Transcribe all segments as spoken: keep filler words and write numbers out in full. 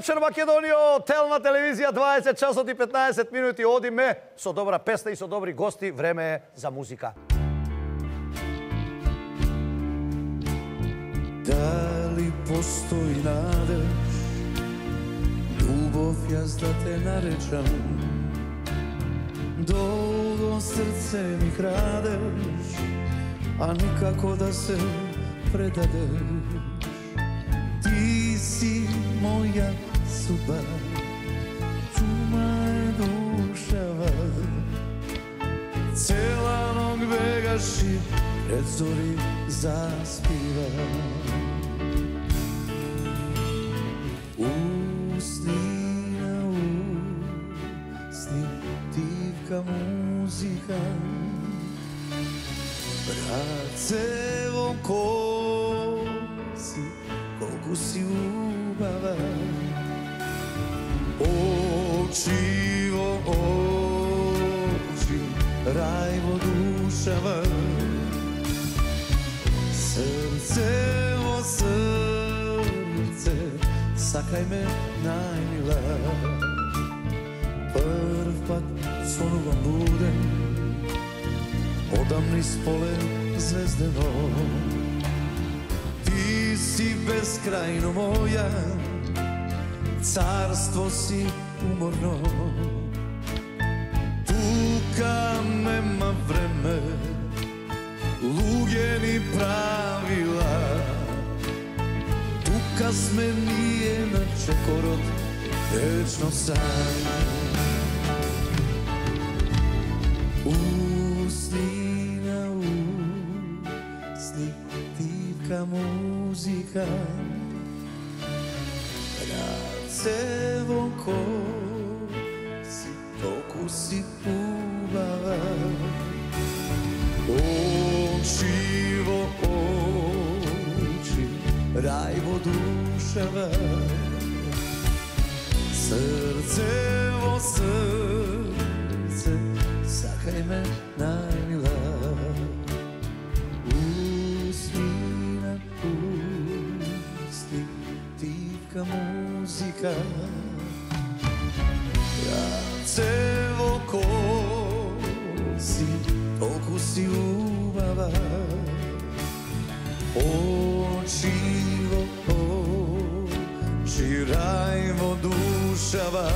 вечер, Македонио! Тел на телевизија, дваесет часот и петнаесет минути. Одиме со добра песна и со добри гости. Време е за музика. Дали постои надеж, љубов јас да те наречам, долго срце ми крадеш, а никако да се предадеш. Ти си моја судба, чума е душава, цела ног бегаш и пред зори заспива. Усни на усни, тивка музика, братце во коси, колку си убава. Очи во очи, рај во душава, срце во срце, сакај ме најмила. Прв пат сонувам буден, одам низ поле звездено. Ти си безкрајно моја, царство си уморно. Тука нема време, луѓе ни правила. Тука сме ние на чекорот, вечно сами. Усни на усни, тивка музика, братце во коси, толку си убава. Очи во очи, рај во душава, срце во срце, сакај ме најмила. Усни на усни, тивка музика, братце во коси, толку си убава. Очи во очи, рај во душава,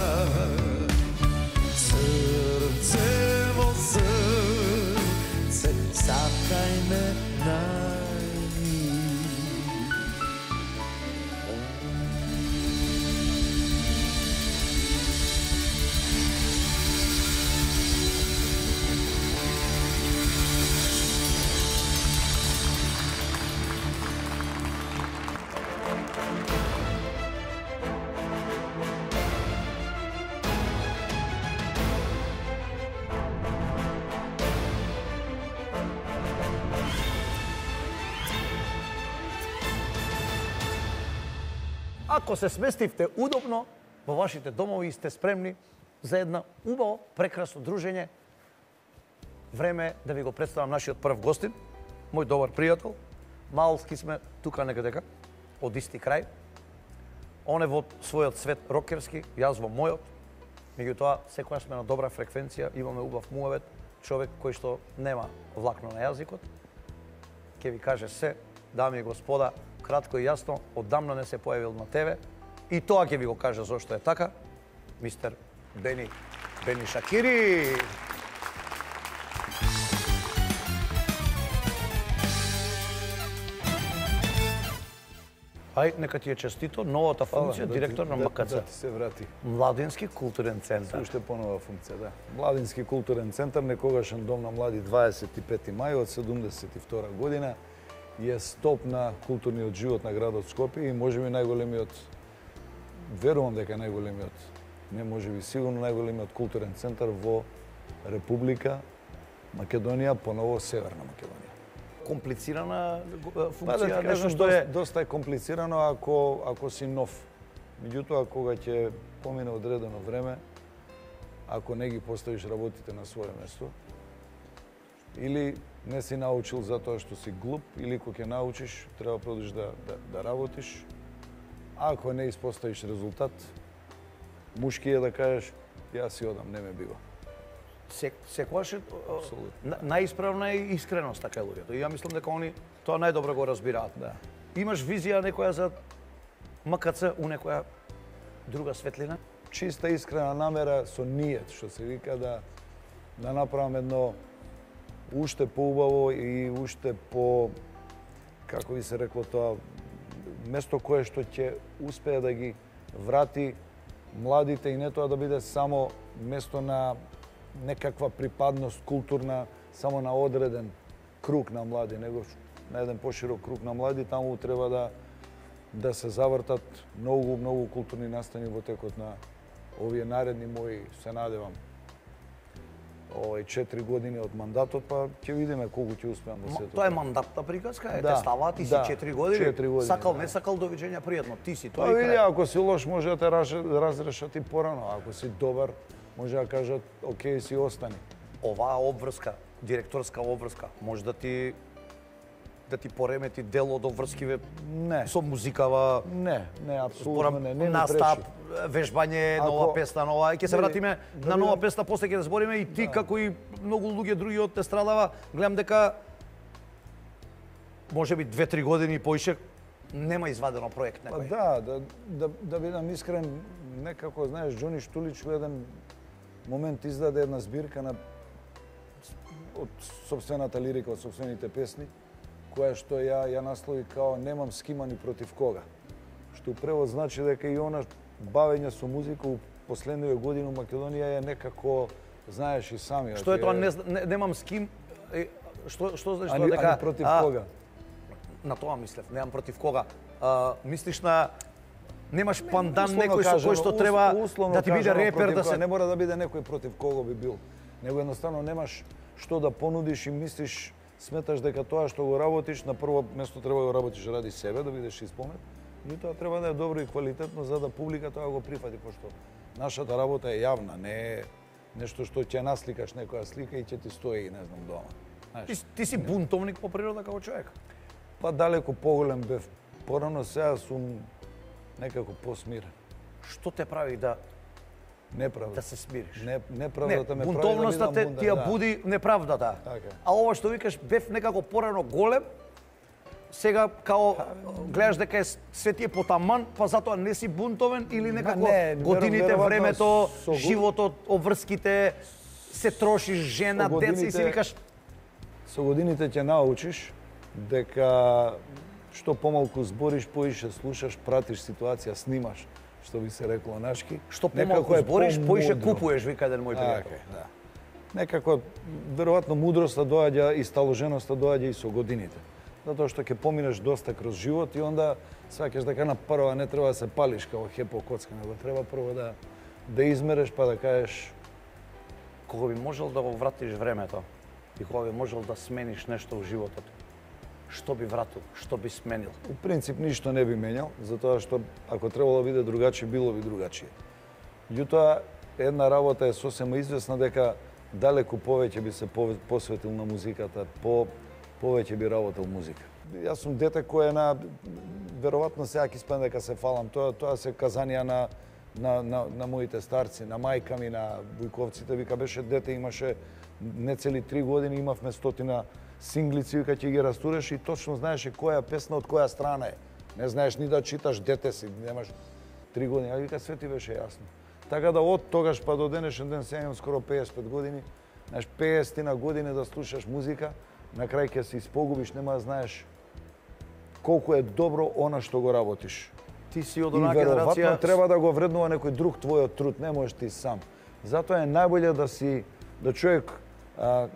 срце во срце, сакај ме најмила. Ако се сместивте удобно во вашите домови и сте спремни за една убаво, прекрасно дружење, време е да ви го представам нашиот прв гостин, мој добар пријател. Малски сме тука некадека, од исти крај. Он е во својот свет рокерски, јас во мојот. Меѓутоа, секоја сме на добра фреквенција, имаме убав муавет, човек кој што нема влакно на јазикот. Ке ви каже се, дами и господа, кратко и јасно, оддамна не се појавил на ТВ и тоа ќе ви го каже зошто е така, мистер Бени, Бени Шакири. Ај, нека ти е честито, новата функција, директор на М К Ц. Да ти се врати. Младински културен центар. Уште понова функција, да. Младински културен центар, некогашен дом на млади, дваесет и пети мај од седумдесет и втора година. Е стоп на културниот живот на градот Скопје и можеби најголемиот, верувам дека е најголемиот, не можеби сигурно најголемиот културен центар во Република Македонија, поново Северна Македонија. Комплицирана функција, Па да ти кажам, нешто што е... доста е комплицирано ако, ако си нов. Меѓутоа, кога ќе помине одредено време, ако не ги поставиш работите на свое место, или не си научил затоа што си глуп, или кога ќе научиш, треба продолжиш да, да, да работиш. ако не испоставиш резултат, мушки е да кажеш, јас си одам, не ме бива. Се, секогаш е на- најисправна е искреност така луѓето. И ја мислам дека они тоа најдобро го разбираат. Да. Имаш визија некоја за М К Ц у некоја друга светлина? Чиста искрена намера со ниет, што се вика, да да направам едно уште поубаво и уште по, како би се рекло тоа, место кое што ќе успее да ги врати младите и не тоа да биде само место на некаква припадност културна, само на одреден круг на млади, него на еден поширок круг на млади, таму треба да да се завртат многу, многу културни настани во текот на овие наредни мои, се надевам, овој четири години од мандатот, па ќе видиме колку ќе успеам во сето. Тоа е мандатна приказка, е, Да, те ставаат, ти си да, четири години, четири години, сакал, да. не сакал, довиđenja, пријатно, ти си, Па тоа и види, крај. ако си лош може да те раш- разрешат и порано, ако си добар може да кажат окей, си остани. Оваа обврска, директорска обврска, може да ти да ти поремети дел од обврскиве Не, со музикава, не, не, апсолутно не, не ми настап, пречи. вежбање, Ако- нова песна, нова. Ќе се Види, вратиме да на нова видам- песна, после ќе да збориме и ти како и многу луѓе други од те страдава. Гледам дека можеби две-три години и поише нема извадено проект Па некој. да, да, да, да бидам искрен, некако, знаеш, Џони Штулич во еден момент издаде една збирка на од собствената лирика, од собствените песни, која што ја ја наслови као немам с кима ни против кога. Што у превод значи дека и она бавење со музика у последниве години у Македонија е некако, знаеш и сами. Што е тоа, не, зна- не, немам с ким, е, што, што значи Ани, тоа дека... ани против а, кога? На тоа мислев, немам против кога. А, мислиш на... Немаш пандан Условно некој со кажано, кој што ус- треба условно да ти биде кажано, репер, против да кога. се... Не мора да биде некој против кого би бил. Него едноставно немаш што да понудиш и мислиш, сметаш дека тоа што го работиш, на прво место треба да го работиш ради себе, да бидеш исполнет, и тоа треба да е добро и квалитетно за да публика тоа го прифати, пошто нашата работа е јавна, не е нешто што ќе насликаш некоја слика и ќе ти стои, не знам, дома. Знаеш, Ти, ти си бунтовник по природа како човек. па далеко поголем бев порано, сега сум некако посмирен. Што те прави да Неправда. да се смириш? Не, Не, неправдата ме прави да бунтовноста бидам те бунтар, ти ја да. буди неправдата. Така. А ова што викаш бев некако порано голем, сега као гледаш дека е се ти е потаман, па затоа не си бунтовен или некако не, годините, веројатно времето, со го- животот, обврските, се трошиш жена, Со деца и си годините- викаш Со годините ќе научиш дека што помалку збориш, поише слушаш, пратиш ситуација, снимаш, што би се рекло нашки. што Некако помалку е збориш, поише помудро. купуеш, вика еден мој пријател. Така е, да. Некако, веројатно, мудроста доаѓа и сталоженоста доаѓа и со годините. Затоа што ќе поминеш доста кроз живот и онда сваќаш дека на прва не треба да се палиш како хепо коцка, него треба прво да да измереш па да кажеш Кога би можел да го вратиш времето и кога би можел да смениш нешто во животот, што би вратил, што би сменил? у принцип ништо не би менјал, затоа што ако требало да биде другачи, било би другачие. Меѓутоа, една работа е сосема известна дека далеку повеќе би се пове- посветил на музиката, по повеќе би работел музика. Јас сум дете кој е на веројатно сега ќе спомнам дека се фалам, тоа тоа се казанија на на на на моите старци, на мајка ми, на бујковците, вика беше дете, имаше не цели три години, имавме стотина синглици, вика ќе ги растуреш и точно знаеше која песна од која страна е. Не знаеш ни да читаш, дете си, немаш три години, а вика све ти беше јасно. Така да од тогаш па до денешен ден сега имам скоро пеесет и пет години, знаеш, пеесет на години да слушаш музика, на крај ќе се испогубиш, нема да знаеш колку е добро она што го работиш. Ти си од И онаа веројатно генерација... треба да го вреднува некој друг твојот труд, не можеш ти сам. Затоа е најболje да си, да човек, а,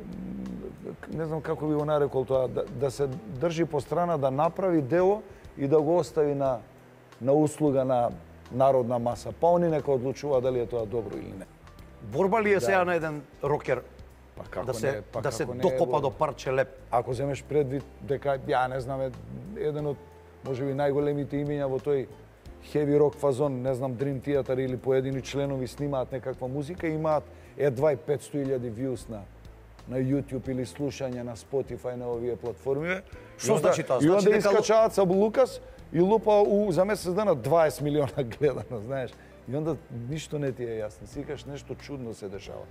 не знам како би го нарекол тоа, да, да се држи по страна, да направи дело и да го остави на, на услуга на народна маса. Па они нека одлучува дали е тоа добро или не. Борба ли е сега на еден рокер Па како да се, не, па да се како не е докопа борба? до парче леп? Ако земеш предвид дека, ја не знам, е еден од можеби најголемите имиња во тој heavy rock фазон, не знам, Dream Theater или поедини членови снимаат некаква музика, имаат едва и петсто илјади views на на YouTube или слушање на Spotify на овие платформи. Што И онда- значи тоа? И Значи онда дека- искачаат со Лукас и лупа у, за месец дена дваесет милиона гледано, знаеш. И онда ништо не ти е јасно. Си кажеш нешто чудно се дешава.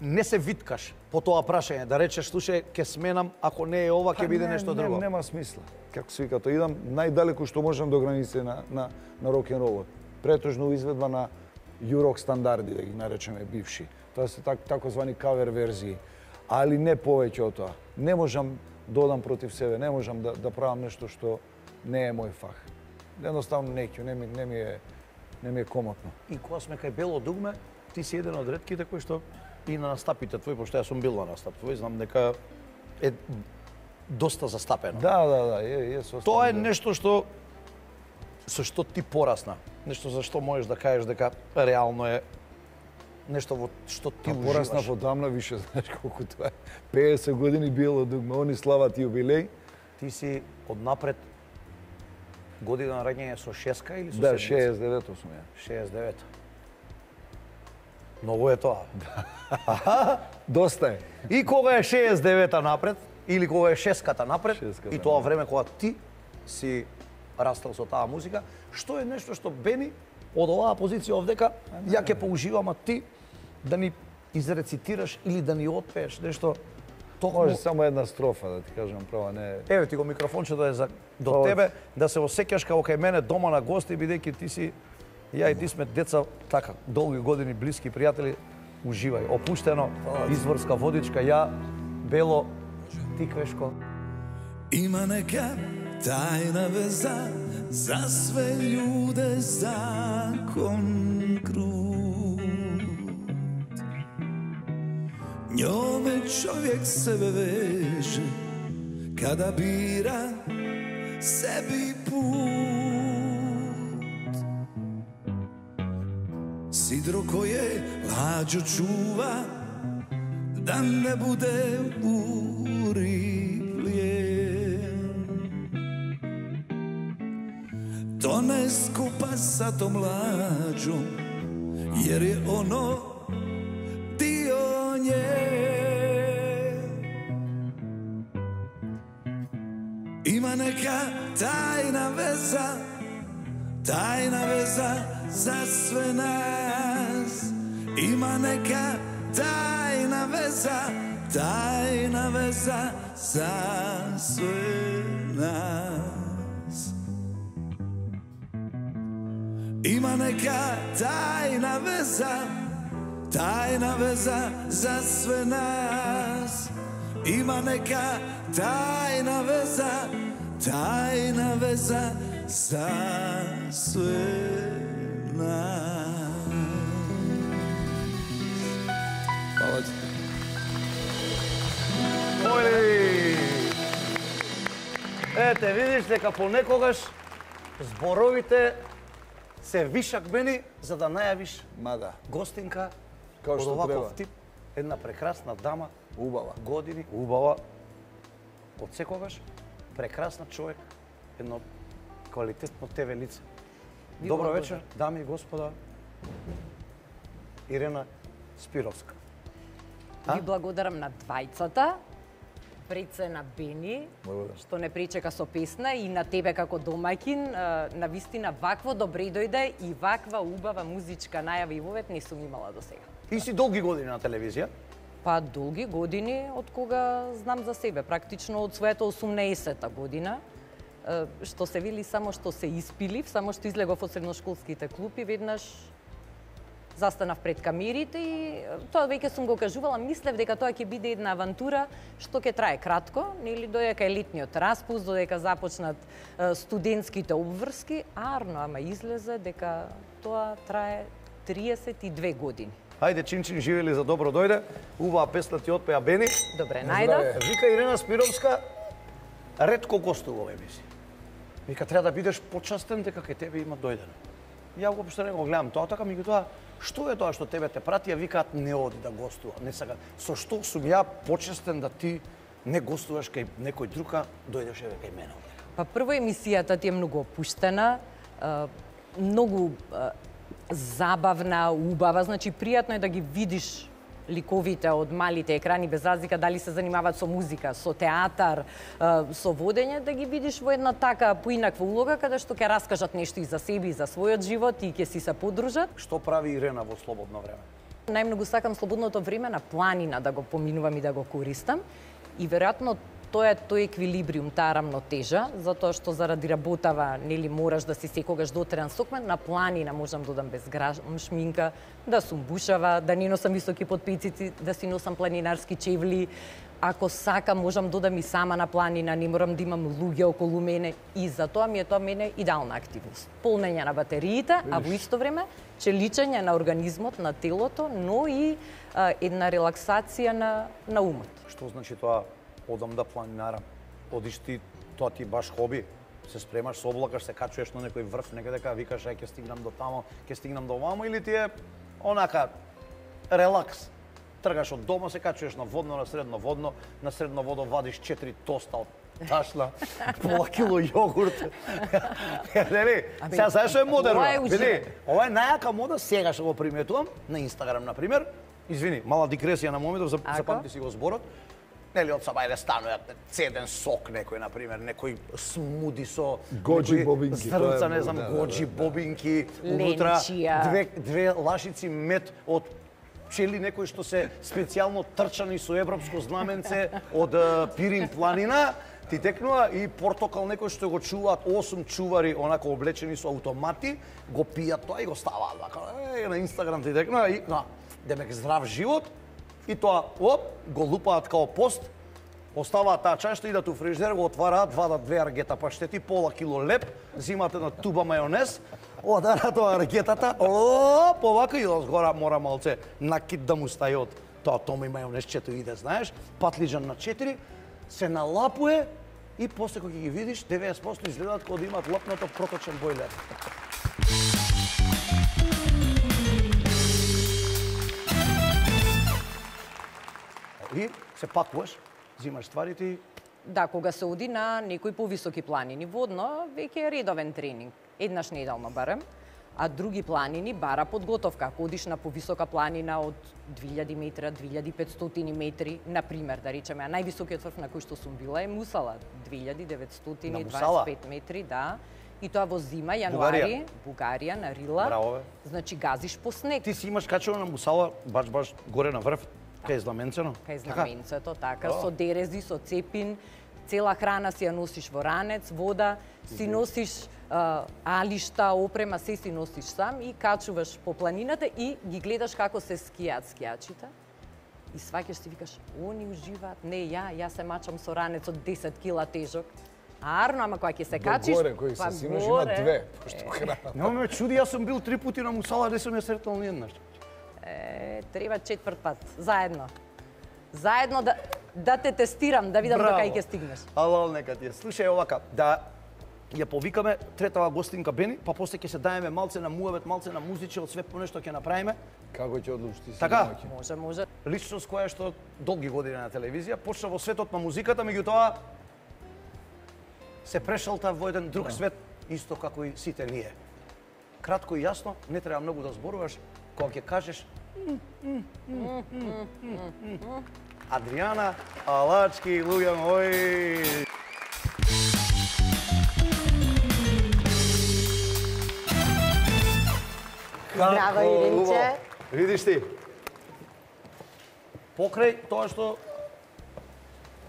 Не се виткаш по тоа прашање, да речеш, слушај, ќе сменам, ако не е ова, ќе биде не, нешто не, друго. Нема смисла. Како се вика, тоа идам најдалеку што можам до граници на, на, на рок-н-ролот. Претежно изведба на Юрок стандарди, да ги наречеме бивши. Тоа се так, такозвани кавер верзии. Али не повеќе од тоа. Не можам да одам против себе, не можам да, да правам нешто што не е мој фах. Едноставно не ќе, не ми, не ми е не ми е комотно. И кога сме кај Бело дугме, ти си еден од ретките кои што и на настапите твои, пошто јас сум бил на настап твој, знам дека е доста застапено. Да, да, да, е, е со Тоа е нешто што со што ти порасна, нешто за што можеш да кажеш дека реално е нешто во што ти уживаш. Порасна подамна више, знаеш колку тоа е. пеесет години Бело дугме, они слават јубилеј. Ти си однапред година на раѓање со шеска или со Да, седмица? шеесет и девето сум ја. шеесет и девето. Многу е тоа. Доста е. И кога е шеесет и девета напред, или кога е шеската напред, Шеската и тоа време кога ти си растал со таа музика, што е нешто што Бени од оваа позиција овдека, ја ќе поуживам, а ти да ни изрецитираш или да ни отпееш нешто токму... Може само една строфа да ти кажам права, не. Еве ти го микрофончето е за до Па, тебе, да се осеќаш како кај мене дома на гости, бидејќи ти си ја и ти сме деца така долги години блиски пријатели. Уживај, опуштено, изворска водичка, ја, Бело, ти Квешко. Има нека тајна веза за све људе, закон крут. Njome čovjek sebe veže kada bira sebi put. Sidro koje lađu čuva da ne bude buri plijen. To ne skupa sa tom lađom jer je ono dio nje. Ima neka tajna veza, tajna veza za sve nas. Ima neka tajna veza, tajna veza za sve nas. Ima neka tajna veza, tajna veza za sve nas. Ima neka tajna veza, tajna veza za sve nas. Hvala ti. Ој! Ете, видиш дека понекогаш зборовите се вишак мени за да најавиш Мада, гостинка Као од што оваков треба. тип, една прекрасна дама, убава. години, убава, од секогаш, прекрасна човек, едно квалитетно тебе лице. Добро вечер, дами и господа, Ирена Спировска. Ви благодарам на двајцата, пред се на Бени, Благодарам. што не пречека со песна, и на тебе како домаќин. На вистина вакво добре дојде и ваква убава музичка најава и вовет не сум имала до сега. Ти си долги години на телевизија. Па долги години од кога знам за себе, практично од својата осумнаесета година, е, што се вели само што се испилив, само што излегов од средношколските клупи, веднаш застанав пред камерите и тоа веќе сум го кажувала, мислев дека тоа ќе биде една авантура што ќе трае кратко, нели додека е летниот распуст, додека започнат е, студентските обврски, арно, ама излезе дека тоа трае триесет и две години. Хајде, чин-чин, живели за добро дојде. Убава песна ти отпеа Бени. Добре, најдов. Вика Ирена Спировска, ретко гостува во емисија. Вика, треба да бидеш почастен дека кај тебе има дојдено. Ја го општо не го гледам тоа, така меѓутоа, што е тоа што тебе те прати, а викаат не оди да гостува, не сака. Со што сум ја почестен да ти не гостуваш кај некој друга, дојдеш еве кај мене. Па прво емисијата ти е многу опуштена, е, многу е, забавна, убава, значи пријатно е да ги видиш ликовите од малите екрани без разлика дали се занимаваат со музика, со театар, со водење, да ги видиш во една така поинаква улога каде што ќе раскажат нешто и за себе и за својот живот и ќе си се подружат. Што прави Ирена во слободно време? Најмногу сакам слободното време на планина да го поминувам и да го користам. И веројатно тоа е тој еквилибриум, таа рамнотежа, затоа што заради работава, нели мораш да си секогаш дотрен сокмен, на планина можам да одам без грам шминка, да сум бушава, да не носам високи потпецици, да си носам планинарски чевли. Ако сакам, можам да одам и сама на планина, не морам да имам луѓе околу мене и затоа ми е тоа мене идеална активност. Полнење на батериите, а во исто време челичење на организмот, на телото, но и а, една релаксација на, на умот. Што значи тоа одам да планинарам? Одиш ти, тоа ти баш хоби, се спремаш, се облакаш, се качуваш на некој врв, некаде дека викаш ај ќе стигнам до тамо, ќе стигнам до вамо, или ти е онака релакс? Тргаш од дома, се качуваш на водно, на средно водно, на средно водо вадиш четири тоста од ташна, пола кило јогурт. Нели? Сега знаеш што е модерно? Види, ова е најака мода, сега што го приметувам на Инстаграм на пример. Извини, мала дигресија на моментов, запамти си го зборот. Нели од саба да стануваат цеден сок некој на пример, некој смуди со гоџи бобинки, зрнца, не знам, гоџи бобинки, унутра две две лашици мед од пчели некои што се специјално трчани со европско знаменце од Пирин планина, ти текнува и портокал некој што го чуваат осум чувари онака облечени со автомати, го пијат тоа и го ставаат вака. Е, на Инстаграм ти текнува и на демек здрав живот. И тоа, оп, го лупаат као пост, оставаат таа чашта, идат у фриждер, го отвараат, вадат две аргета паштети, пола кило леп, зимат една туба мајонез, одарат тоа аргетата, оп, овака и згора мора малце накид да му стаи од тоа томи мајонезчето иде, знаеш, патлиџан на четири, се налапуе и после кога ги видиш, деветдесет проценти изгледаат кога да имаат лопнато проточен бојлер. И се пакуваш, взимаш стварите и... Да, кога се оди на некои повисоки планини водно, веќе е редовен тренинг. Еднаш неделно барем, а други планини бара подготовка. Ако одиш на повисока планина од две илјади метри, две илјади и петстотини метри, на пример, да речеме, а највисокиот врв на кој што сум била е Мусала, две илјади деветстотини и дваесет и пет метри, да. И тоа во зима, јануари, Бугарија, на Рила. Браво, значи газиш по снег. Ти си имаш качено на Мусала, баш баш горе на врв. Кај знаменцено? Кај знаменцето, така, со дерези, со цепин, цела храна си ја носиш во ранец, вода, си носиш а, алишта, опрема, се си носиш сам и качуваш по планината и ги гледаш како се скијаат скијачите. И сваќаш си викаш, они уживаат, не ја, ја се мачам со ранец од десет кила тежок. Арно, ама кога ќе се качиш, горе, кој се симаш има две, пошто храна. Не ме чуди, јас сум бил три пути на Мусала, не сум ја сретнал ниеднаш. Е, треба четврт пат, заедно. Заедно да, да те тестирам, да видам до кај ќе стигнеш. Алал, нека ти е. Слушај овака, да ја повикаме третава гостинка Бени, па после ќе се даеме малце на муабет, малце на музиче, од све по нешто ќе направиме. Како ќе одлучиш ти си? Така? Може, може. Личност која што долги години на телевизија, почна во светот на музиката, меѓутоа се прешалта во еден друг свет, исто како и сите ние. Кратко и јасно, не треба многу да зборуваш, кога ќе кажеш Адријана Алачки, луѓе мои. Здраво, Иринче. Видиш ти. Покрај тоа што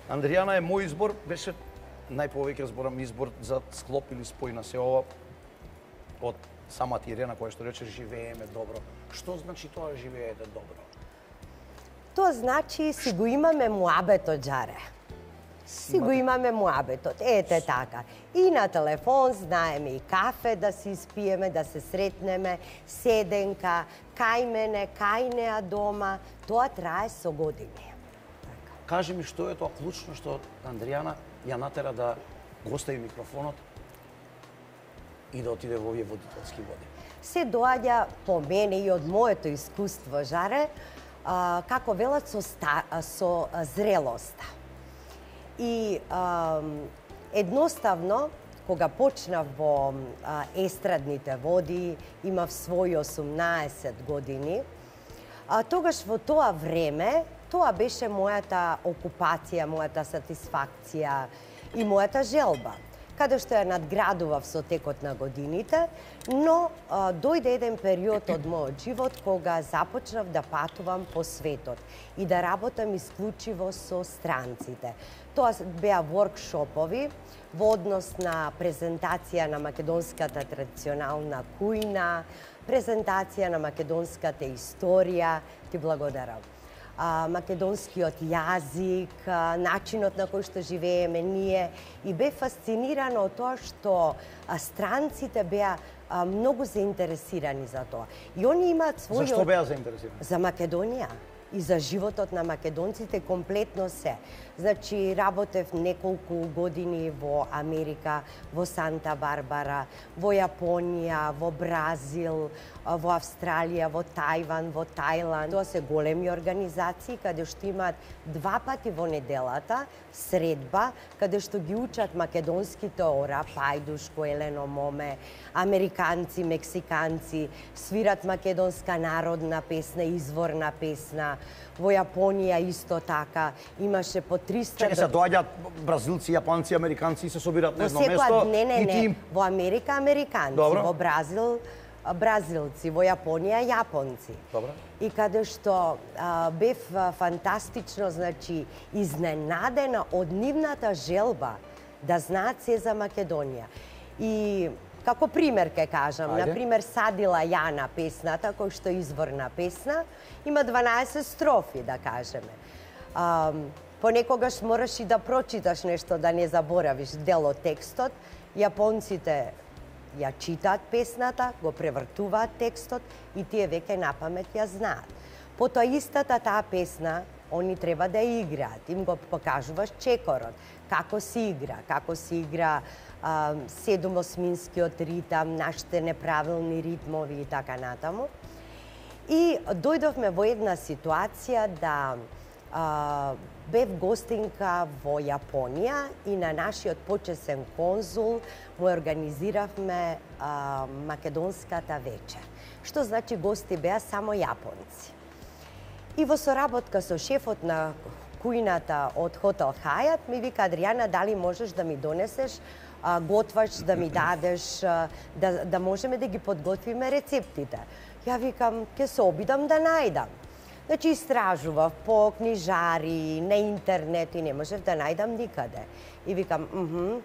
Андријана е мој избор, беше најповеќе зборам избор за склоп или спој на се ова од самата Ирена која што рече живееме добро. Што значи тоа живеете добро? Тоа значи си го имаме муабетот, Џаре. Си го имаме муабетот, ете така. И на телефон знаеме и кафе да си испиеме, да се сретнеме, седенка, кај мене, кај неа дома. Тоа трае со години. Кажи ми што е тоа клучно што Андријана ја натера да го остави микрофонот и да отиде во овие водителски води. Се доаѓа по мене и од моето искуство, Жаре, а, како велат со, ста, со зрелоста. И а, едноставно, кога почнав во а, естрадните води, имав своји осумнаесет години, А тогаш во тоа време, тоа беше мојата окупација, мојата сатисфакција и мојата желба, каде што ја надградував со текот на годините, но а, дојде еден период од мојот живот кога започнав да патувам по светот и да работам исклучиво со странците. Тоа беа воркшопови во однос на презентација на македонската традиционална кујна, презентација на македонската историја. Ти благодарам. А, македонскиот јазик, а, начинот на кој што живееме ние, и бе фасцинирана од тоа што а, странците беа а, многу заинтересирани за тоа. И они имаат својот... Зашто беа заинтересирани? За Македонија и за животот на македонците, комплетно се. Значи, работев неколку години во Америка, во Санта Барбара, во Јапонија, во Бразил, во Австралија, во Тајван, во Тајланд. Тоа се големи организации каде што имаат два пати во неделата средба, каде што ги учат македонските ора, пајдушко, елено моме, американци, мексиканци, свират македонска народна песна, изворна песна. Во Јапонија исто така имаше по триста... Чекај се, доаѓаат бразилци, јапонци, американци и се собираат на едно Во секоја- место. Не, не, и ти не. им- Во Америка американци, Добро. во Бразил бразилци, во Јапонија јапонци. Добро. И каде што а, бев а, фантастично, значи, изненадена од нивната желба да знаат се за Македонија. И како пример ке кажам, Ајде. на пример Садила Јана песната, кој што е изворна песна, има дванаесет строфи, да кажеме. А, понекогаш мораш и да прочиташ нешто, да не заборавиш дел од текстот. Јапонците ја читаат песната, го превртуваат текстот и тие веќе напамет ја знаат. Потоа истата таа песна, они треба да ја играат. Им го покажуваш чекорот, како се игра, како се игра а, седумосминскиот ритам, нашите неправилни ритмови и така натаму. И дојдовме во една ситуација да а, бев гостинка во Јапонија и на нашиот почесен конзул му организиравме а, македонската вечер. Што значи гости беа само јапонци. И во соработка со шефот на кујната од Хотел Хајат ми вика: Адријана, дали можеш да ми донесеш а, готвач, да ми дадеш, а, да, да можеме да ги подготвиме рецептите. Ја викам, ќе се обидам да најдам. Значи, истражував по книжари, на интернет и не можев да најдам никаде. И викам, мхм,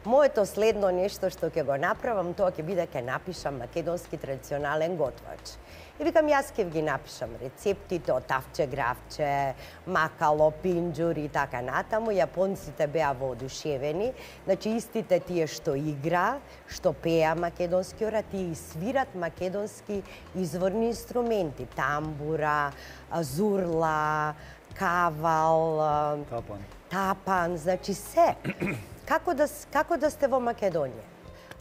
моето следно нешто што ќе го направам, тоа ќе биде ќе напишам македонски традиционален готвач. И викам, јас ќе ги напишам рецептите од тавче, гравче, макало, пинџур и така натаму. Јапонците беа воодушевени. Значи, истите тие што игра, што пеа македонски ора, тие свират македонски изворни инструменти. Тамбура, зурла, кавал, Тапан. тапан, значи се. Како да, како да сте во Македонија?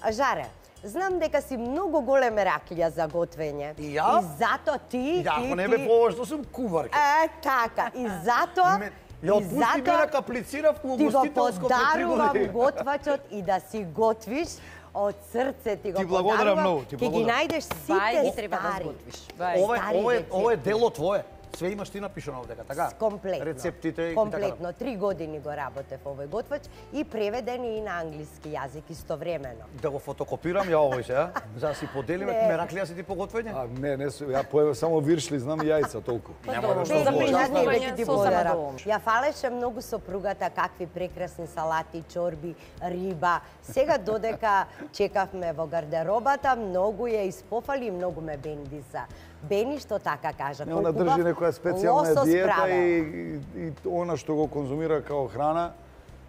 А, Жаре, знам дека си многу големе раклија за готвење. И ја? И зато ти... Ја, ти, ако не ти- бе повош, што сум куварка. Е, така. И затоа... Ме- и Ја отпусти затоа мене, аплицирав во ти го гостителско пред три подарувам години. готвачот и да си готвиш од срце ти го Ти благодарам подарувам. многу, ти Ќе ги благодарам. најдеш Бај сите ги треба да стари. сготвиш. Бај. Ова е, стари ова е, рецепти. ова е дело твое. Све имаш ти напишано овдека, така? Комплетно. Рецептите и така. Комплетно. Три години го работев овој готвач и преведени и на англиски јазик истовремено. Да го фотокопирам ја овој се, за да си поделиме, Не. мераклија си ти по готвење? А не, не су, ја поева само виршли, знам јајца толку. Нема да добро. што Не, За говориш. не, не, причествување веќе ти со благодарам. самодоволно. Ја фалеше многу сопругата какви прекрасни салати, чорби, риба. Сега додека чекавме во гардеробата, многу ја испофали и многу ме бендиса. Бени што така кажа. Не, она колку држи убав некоја специјална лосос диета правела. и, и, и она што го конзумира као храна,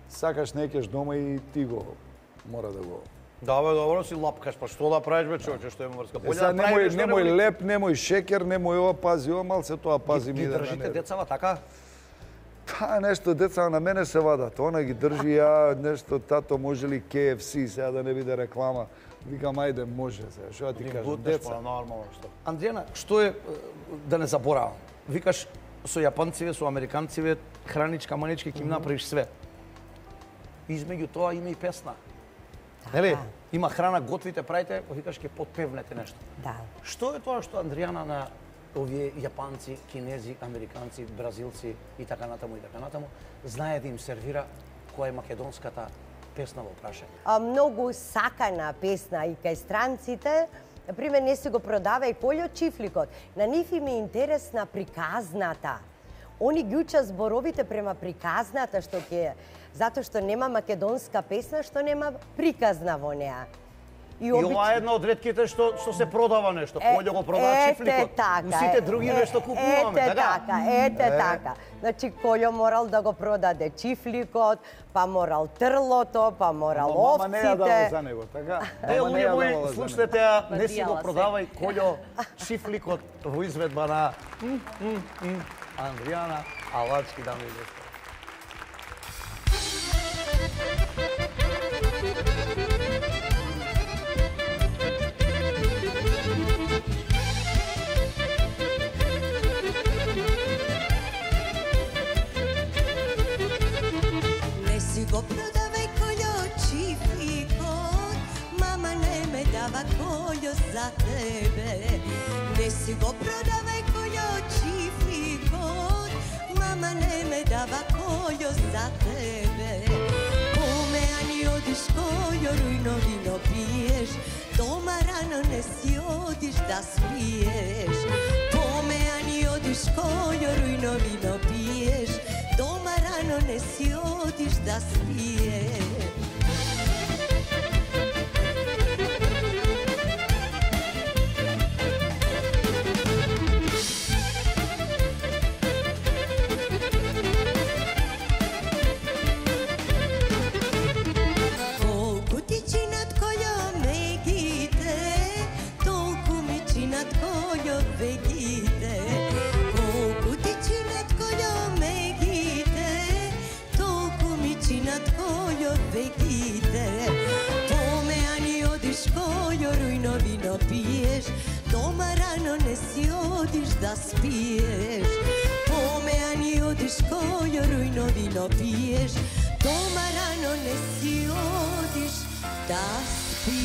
сакаш некеш дома и ти го мора да го... Да, бе, добро си лапкаш, па што да правиш, бе, човече, што е мрска? Е, сега немој, немој леп, немој шекер, немој ова, пази ова, малце тоа пази ми Ги да држите не... децава, така? Па нешто деца на мене се вадат, она ги држи ја, нешто тато може ли К Ф С, сега да не биде реклама. Викам, ајде, може сега, што ја ти Ги кажам, бутнеш, деца. па нормално што. Андријана, што е, да не заборавам, викаш со јапонциве, со американциве, храничка, манички, ќе им направиш све. Измеѓу тоа има и песна. Нели? Има храна, готвите, правите, викаш ќе подпевнете нешто. Да. Што е тоа што Андријана на овие јапанци, кинези, американци, бразилци и така натаму и така натаму, знае да им сервира која е македонската песна во прашање. А, многу сакана песна и кај странците, например, не се го продава и Колјо Чифликот. На нив им е интересна приказната. Они ги учат зборовите према приказната, што ќе, затоа што нема македонска песна, што нема приказна во неа. И, и ова е една од ретките што што се продава нешто. Колјо го продава Чифликот. Така, сите други е, нешто купуваме, ете така? така, ете е. така. Значи Колјо морал да го продаде Чифликот, па морал трлото, па морал Ама овците. мама не ја дава за него, така? Е, Мама не луѓе ја мои, давала за слушнете него. ја, не си го Надијала се. продавај Колјо Чифликот во изведба на м, м, м, Андријана Алачки, дами и господа. Не си го продавај Колјо Чифликот, мама не ме дава Колјо за тебе. Не си го продавај Колјо Чифликот, мама не ме дава Колјо за тебе. Коме ани одиш Колјо, рујно вино пиеш, дома рано не си одиш да спиеш. Коме ани одиш Колјо, рујно вино пиеш, дома рано не си одиш да спиеш. Колку ти чинат Колјо мегите, толку ми чинат Колјо вегите. Колку ти чинат Колјо мегите, толку ми чинат Колјо вегите. Поме ани одиш Колјо, рујно вино пиеш, дома рано не си одиш да спиеш. Поме ани одиш Колјо, рујно вино пиеш, дома рано не си одиш да спиеш.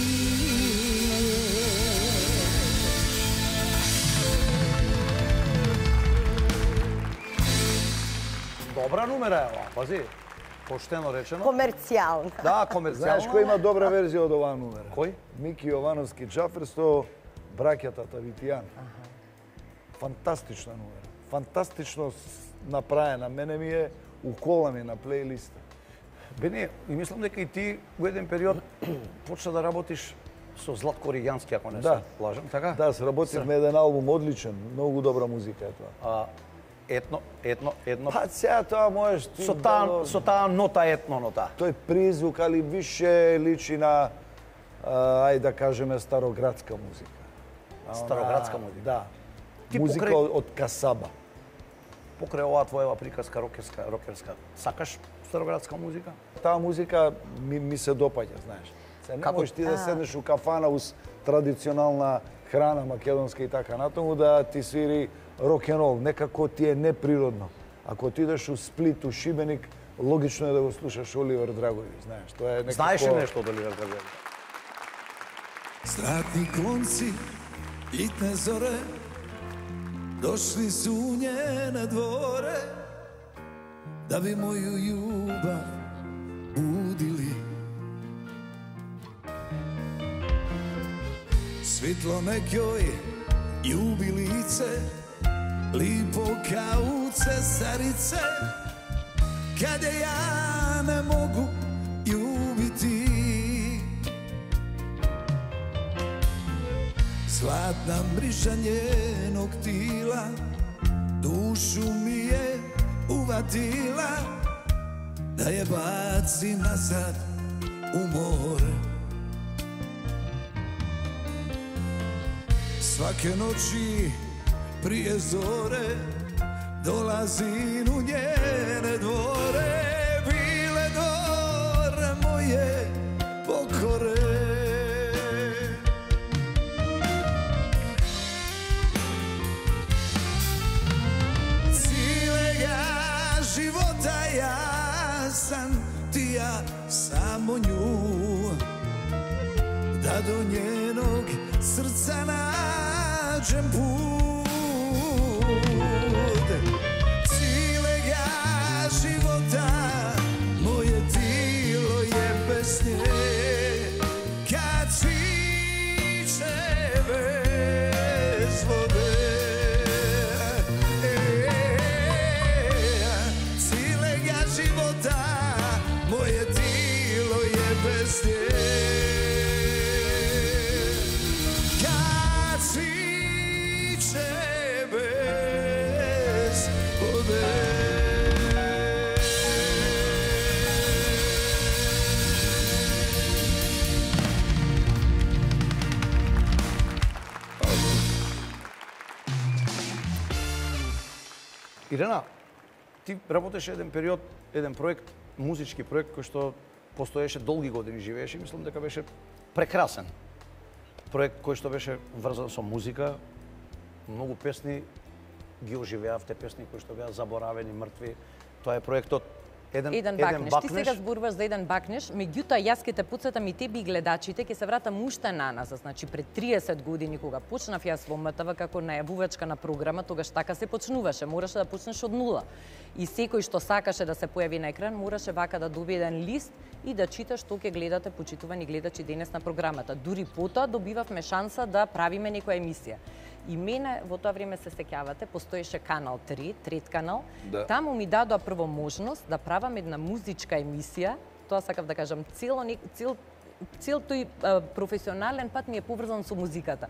Добра номера е ова, пази. Поштено речено. Комерцијална. Да, комерцијално. Знаеш кој има добра верзија од оваа номера? Кој? Мики Јовановски Џафер со браќата Тавитијан. Фантастична номера. Фантастично с- направена. Мене ми е укола ми на плейлиста. Бене, и мислам дека и ти во еден период почна да работиш со Златко Ријански, ако не Да. се лажам, така? Да, сработивме еден албум одличен, многу добра музика е тоа. А, етно, етно, едно. Па сега тоа можеш ти Со да таа го- со таа нота етно нота. тој призвук, али више личи на, а, ајде да кажеме, староградска музика. А она- Староградска музика. Да. Ти Музика покрај- од, од Касаба. Покрај оваа твоева приказка рокерска, рокерска, сакаш староградска музика? Таа музика ми, ми се допаѓа, знаеш. Се не Како- можеш ти да седнеш у кафана уз традиционална храна македонска и така натаму да ти свири рок-н-рол, некако ти е неприродно. Ако ти идеш у Сплит, у Шибеник, логично е да го слушаш Оливер Драгојевич, знаеш. Тоа е некако... Знаеш ли нешто од Оливер Драгојевич? Златни конци, литне зоре, дошли su u njene dvore, da bi moju ljubav budili. Svitlo nekoj ljubilice, lipo kao cesarice, kad je ja ne mogu ljubiti. Zlatna mriža njenog tila, dušu mi je uvatila, da je baci nazad u more. Svake noći prije zore dolazim u njene dvore, bile dore moje pokore. Života ja sam ti ja samo nju, da do njenog srca nađem put. života, moje tijelo je bez nje. Kad cviće bez vode, cijelega života, moje tijelo je bez nje. Kad cviće bez vode. Ирена, ти работеше еден период, еден проект, музички проект кој што постоеше долги години, живееше, мислам дека беше прекрасен проект кој што беше врзан со музика. Многу песни ги оживеавте, песни кои што беа заборавени, мртви. Тоа е проектот Еден, еден бакнеш. Ти сега зборуваш за еден бакнеш, меѓутоа јас ќе те потсетам и тебе и гледачите, ќе се вратам уште наназад, значи пред триесет години кога почнав јас во М Т В како најавувачка на програма, тогаш така се почнуваше, мораше да почнеш од нула. И секој што сакаше да се појави на екран, мораше вака да добие еден лист и да чита што ќе гледате, почитувани гледачи, денес на програмата. Дури потоа добивавме шанса да правиме некоја емисија. И мене во тоа време се сеќавате, постоеше канал три, трет канал. Да. Таму ми дадоа прво можност да правам една музичка емисија. Тоа сакав да кажам, цело цел цел тој а, професионален пат ми е поврзан со музиката.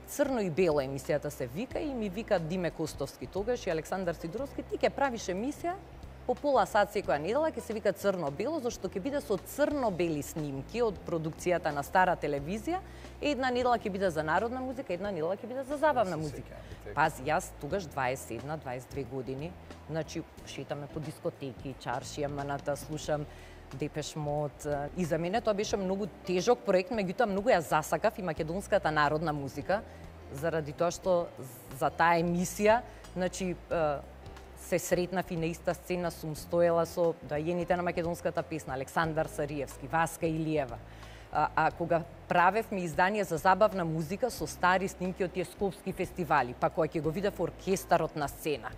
Црно и бело емисијата се вика и ми вика Диме Костовски тогаш и Александар Сидоровски, ти ќе правиш емисија по пола сат секоја недела, ќе се вика црно-бело, зашто ќе биде со црно-бели снимки од продукцијата на стара телевизија. Една недела ќе биде за народна музика, една недела ќе биде за забавна музика. Пази, јас тогаш дваесет и една дваесет и две години, значи шетаме по дискотеки, чаршија, маната, слушам Депеш Мод. И за мене тоа беше многу тежок проект, меѓутоа многу ја засакав и македонската народна музика, заради тоа што за таа емисија, значи се сретнав и на иста сцена сум стоела со доаѓените на македонската песна Александар Сариевски, Васка Илиева. А, а кога правевме издание за забавна музика со стари снимки од тие скопски фестивали, па кога ќе го видев оркестарот на сцена,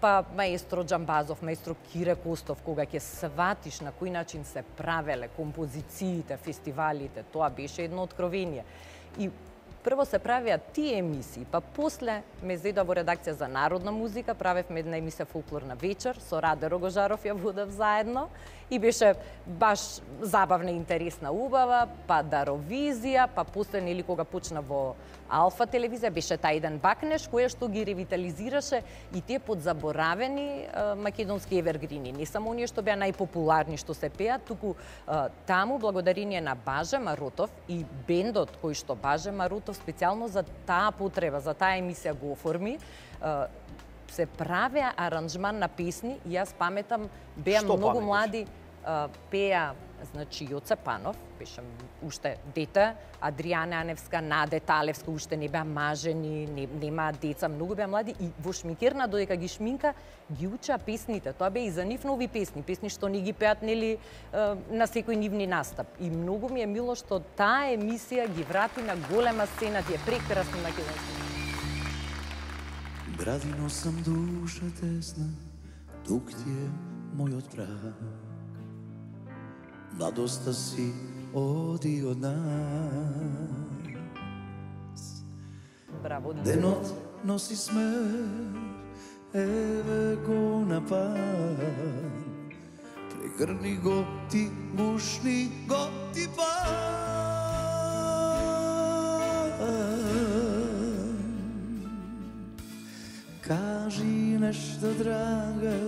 па маестро Џамбазов, маестро Кире Костов, кога ќе сватиш на кој начин се правеле композициите, фестивалите, тоа беше едно откровение. И прво се правеа тие емисии, па после ме зедоа во редакција за народна музика, правевме една емисија Фолклорна вечер, со Раде Рогожаров ја водев заедно и беше баш забавна, интересна, убава, па Даровизија, па после нели кога почна во Алфа телевизија беше тај еден бакнеш која што ги ревитализираше и тие подзаборавени а, македонски евергрини, не само оние што беа најпопуларни што се пеат, туку а, таму благодарение на Баже Марутов и бендот кој што Баже Марутов специјално за таа потреба, за таа емисија го оформи, а, се правеа аранжман на песни и јас паметам, беа што многу паметиш? Млади, а, пеа, значи Јоце Панов, беше уште дете, Адријана Аневска, Наде Талевска, уште не беа мажени, не, немаа деца, многу беа млади и во шминкерна додека ги шминка, ги учеа песните. Тоа беа и за нив нови песни, песни што не ги пеат нели на секој нивни настап. И многу ми е мило што таа емисија ги врати на голема сцена тие прекрасни македонски. Градино сам душа тесна, тук ти е мојот брак. Младоста си оди од нас. Браво, денот носи смех, еве го напад. Прегрни го ти, бушни го ти пад. Кажи нешто, драга,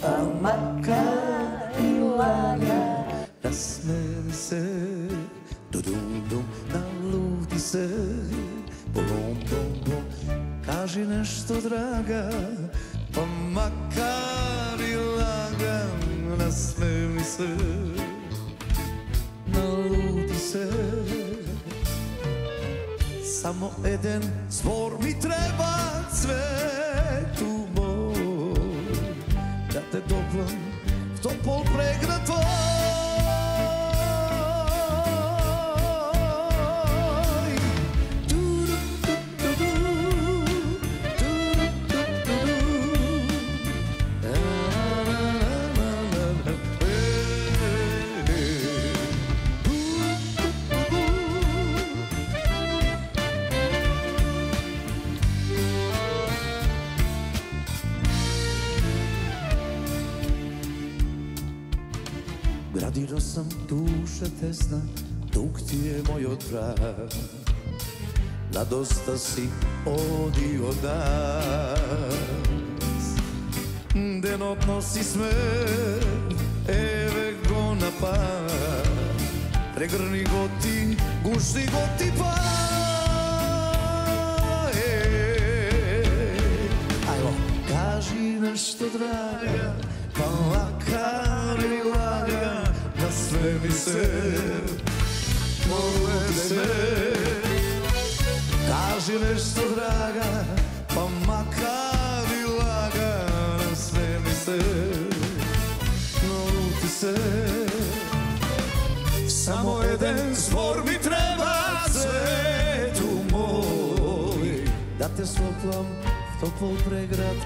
а макар и лага. Насмени се, дудум-дум, налути се, бум-бум-бум. Кажи нешто, драга, па макар и лага. Насмени се, налути се. Само еден збор ми треба, цвету мој, да те доплам в топол преград твој. duše tesna, dug ti je moj odbrak. Na dosta si odio nas. Denotno si smeh, eve go na pad. Pregrni go ti, gušti go ti pa. Ajmo, kaži nešto draga, pa makar i laga, na sve mi se povede. Kaži nešto draga, pa makar i laga, na sve mi se naluti se. Samo jedan zbor mi treba, svetu moj, da te sloplam v topol pregrad.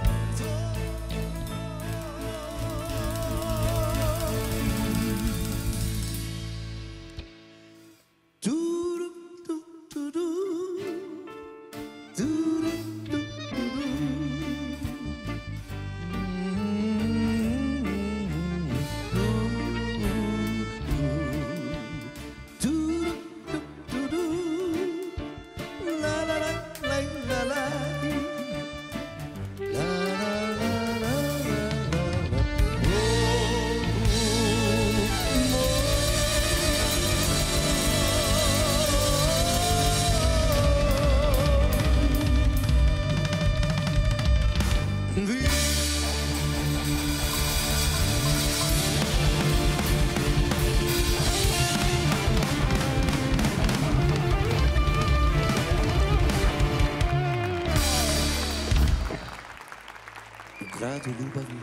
Gradu ljubavi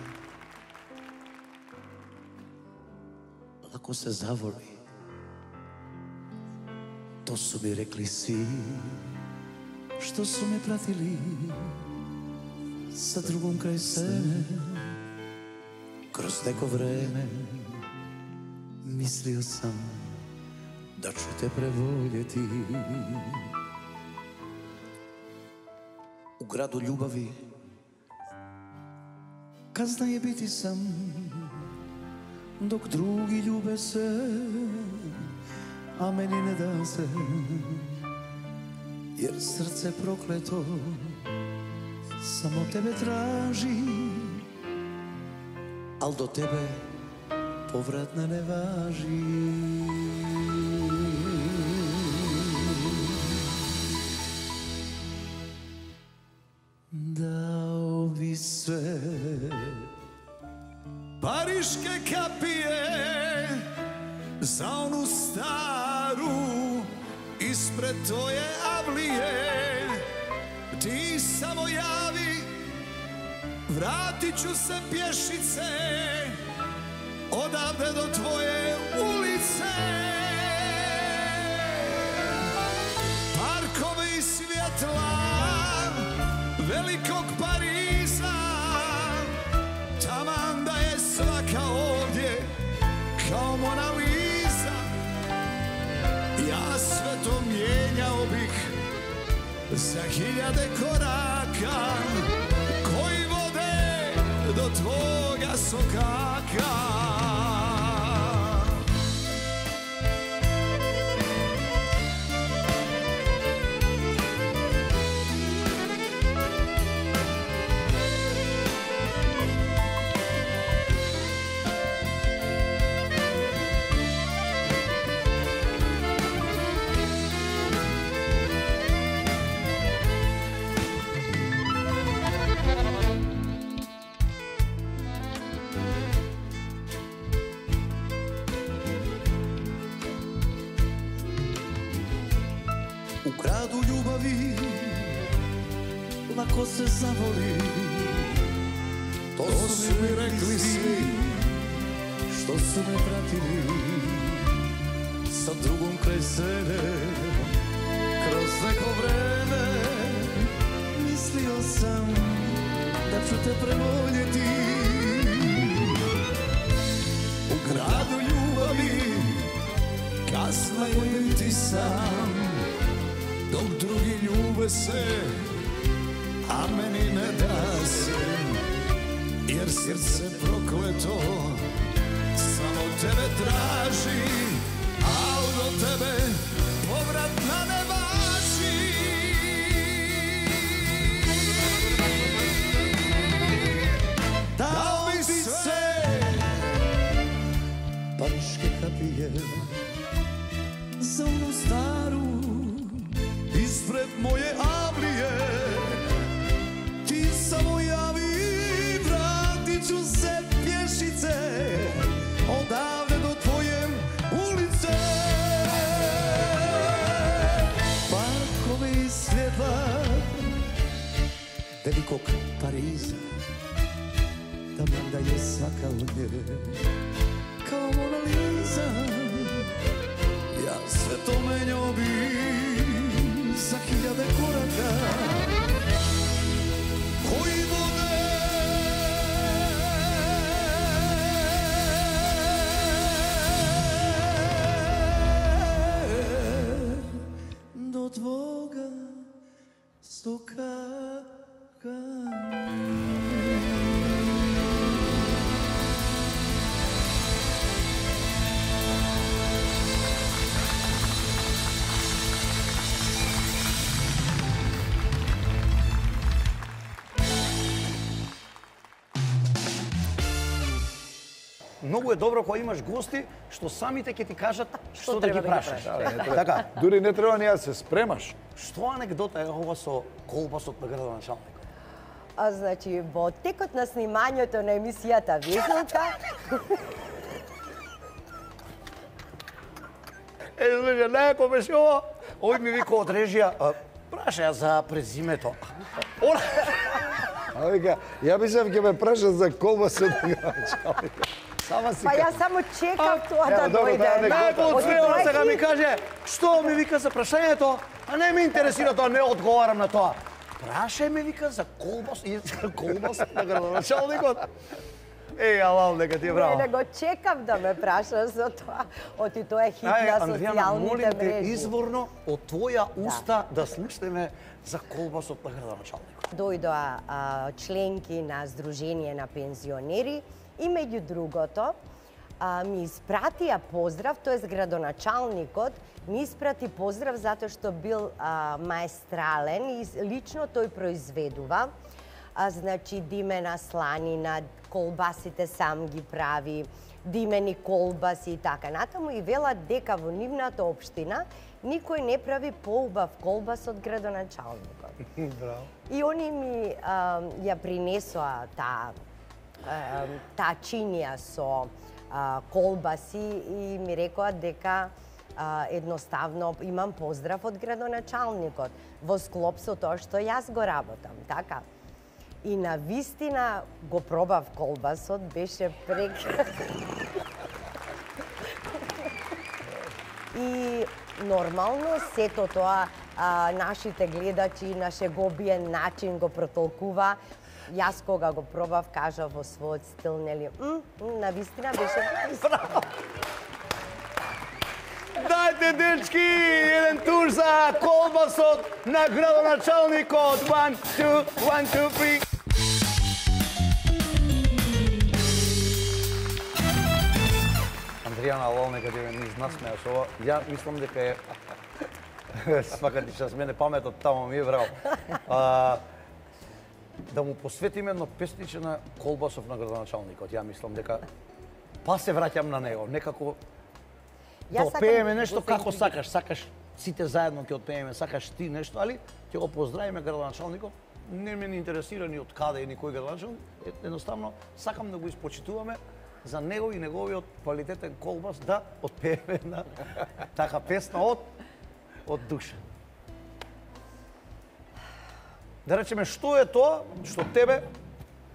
lako se zavoli. To su mi rekli svi što su me pratili sa drugom kraj sebe. Kroz neko vreme mislio sam da ću te prevoljeti. U gradu ljubavi kazna je biti sam, dok drugi ljube se, a meni ne da se, jer srce prokleto samo tebe traži, al do tebe povratne ne važi. Dao bi sve pariške kapije za onu staru ispred tvoje avlije. Ti samo javi, vratit ću se pješice odavde do tvoje ulice. Parkove i svjetla velikog Pariza, taman da je svaka ovdje kao Mona Lisa. Ja sve to mijenjao bih za hiljade koraka koji vode do tvoga sokaka. U gradu ljubavi lako se zavoli. To su mi rekli svi što su me pratili sa drugom kraj sebe. Kroz neko vreme mislio sam da ću te prevoljeti. U gradu ljubavi kasno je biti sam, dok drugi ljube se, a meni ne da se, jer srce prokleto samo tebe traži. неког Париза, таман да ја сакал не, као Мона Лиза. Јас све то менјо би за хиљаде корака, кои воде до твога стокака. Многу е добро кога имаш гости што самите ќе ти кажат што да ги треба да ги прашаш. прашаш. Така, Дури не треба ни да се спремаш. што анекдота е ова со колбасот на градоначалникот? А, значи, во текот на снимањето на емисијата Везелка, Е, слушай, неко беше ова, овој ми вика од режија, а, праша ја за презимето. Она... А вика, ја мислев ќе ме прашат за колбасот на градоначалникот. Сама си па ка- јас само чекав тоа Ево, да добро, дојде. таа анекдота. Неко од Од средно тоа сега хит- ми каже, што ми вика за прашањето, а не ме интересира тоа, не одговарам на тоа. Прашај ме, вика, за колбас, и за колбас на градоначалникот. Е, алал, нека ти е Не, браво. не го чекав да ме прашаш за тоа. Оти тоа е хит Ај, на Андријана, социјалните молим те, мрежи. изворно од твоја уста да слушнеме за колбасот на градоначалникот. Дојдоа а, членки на Сдружение на пензионери и меѓу другото а, ми испратија поздрав, тоест градоначалникот ми испрати поздрав затоа што бил а, маестрален и лично тој произведува. А, значи димена сланина, колбасите сам ги прави, димени колбаси и така натаму, и велат дека во нивната општина никој не прави поубав колбас од градоначалникот. Браво. И они ми а, ја принесоа таа а, таа чинија со а, колбаси и ми рекоа дека а, едноставно имам поздрав од градоначалникот во склоп со тоа што јас го работам, така. И на вистина го пробав колбасот, беше прекрасно. И нормално сето тоа а, нашите гледачи на шеговиен начин го протолкува. Јас кога го пробав, кажав во својот стил, нели, м, м, на вистина беше Дајте, дечки, еден тур за колбасот на градоначалникот. One, two, one, two, three. Андријана, лол, нека ти ме низ насмеа со ова. Ја мислам дека е... Свака ти час мене паметот тамо ми е врал. А, да му посветиме едно песниче на колбасов на градоначалникот. Ја мислам дека па се враќам на него. Некако да Јас сакам отпееме да нешто се како интригирам. сакаш, сакаш сите заедно ќе отпееме, сакаш ти нешто, али ќе го поздравиме градоначалникот. Не ме не интересира ни од каде и ни кој градоначалник, едноставно сакам да го испочитуваме за него и неговиот квалитетен колбас, да отпееме на така песна од од душа. Да речеме, што е тоа што тебе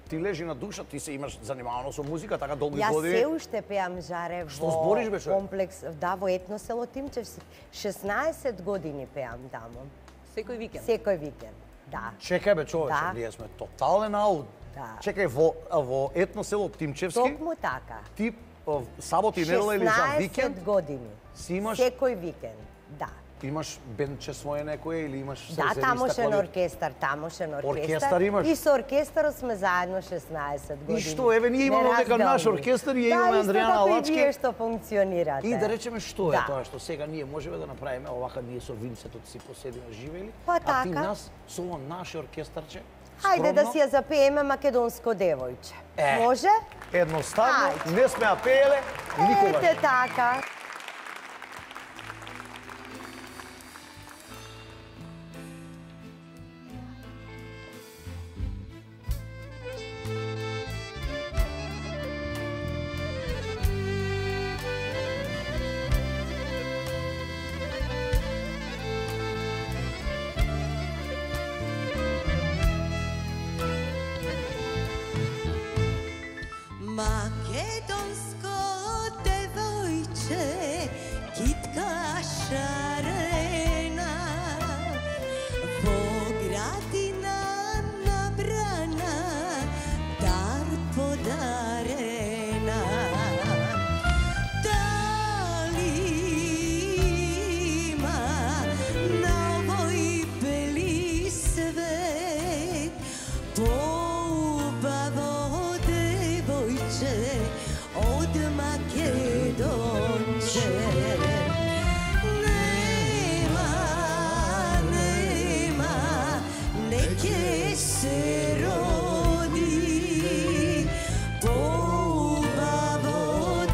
ти лежи на душа, ти се имаш занимавано со музика, така долги Јас години. се уште пеам, Жаре, Што во збориш, бе, човек? комплекс, да, во етно село Тимчевски. шеснаесет години пеам таму, Секој викенд. секој викенд. Да. Чекај бе, човече, Да. ние сме тотален аут. Да. Чекај, во, а, во етно село Тимчевски, Токму така. ти а, сабот и недела или за викенд, шеснаесет години. си имаш- Секој викенд, да. имаш бендче свое некое или имаш Да, срезениста тамошен клавир? оркестар, тамошен оркестар. Оркестар имаш? И со оркестарот сме заедно шеснаесет години. И што, еве, ние имаме дека наш Неразделни. оркестар и ја да, имаме исто Андријана како Лачки. И вие што функционирате. И да речеме што е Да. тоа што сега ние можеме да направиме овака ние со Винцетот си поседиме живели, Па а ти така. нас со ово наше оркестарче. Хајде да скромно, си ја запееме македонско девојче. Е. Може? едноставно Ајде. не сме ја пееле никогаш. Ете така. šarena, во gradina nabrana, dar podarena. Da li ima na ovoj beli svet poubavo devojče od Makedonče? Nema, nema, neke se rodi poubavo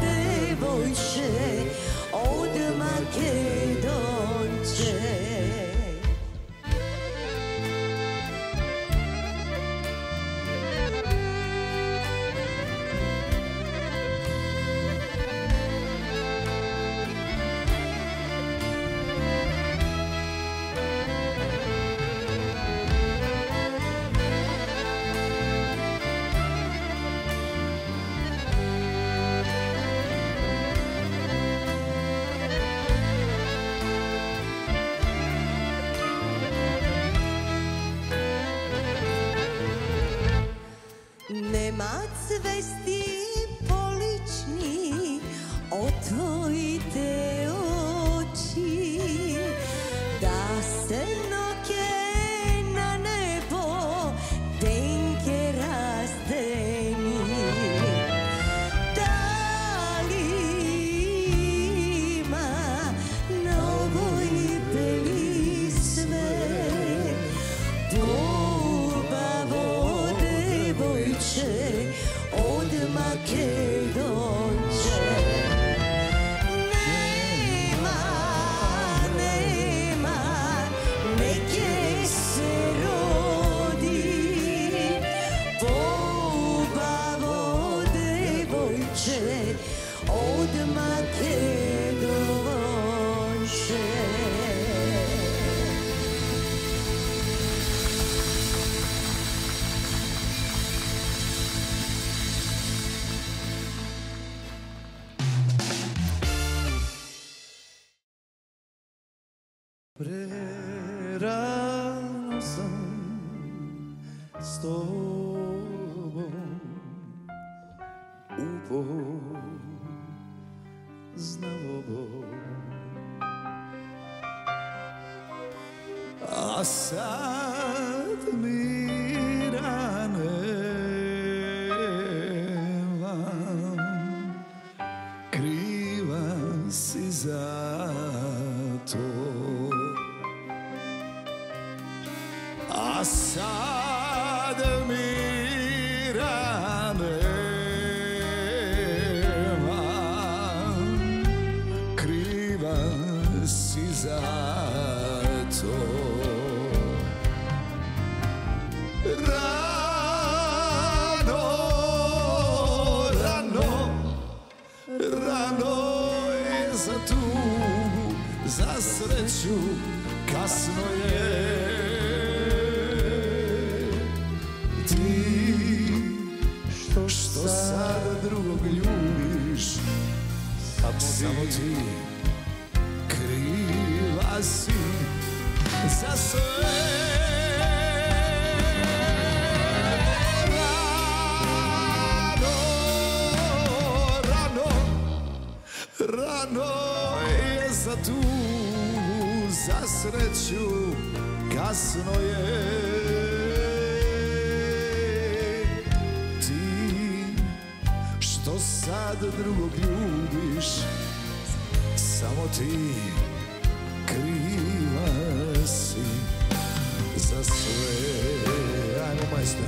devojče od Makedonče. Nema cvesti polični od tvojite oči, da se noke na nebo tenke razdeni. Da li ima na ovoj beli svet poubavo devojče od Makedonče? Nema, nema, neke se rodi poubavo devojče od Makedonče. Prerano sam s tobom upoznao Bog, a sad mi rane vam kriva si za to. A sad mi rane vam kriva si za to. Rano, rano, rano je za tugu, za sreću kasno je. Što sad drugog ljubiš, samo ti kriva si za sve. Rano, rano, rano je za tugu, za sreću kasno je. Što sad drugog ljubiš, samo ti kriva si za sve. Ajmo, majstor.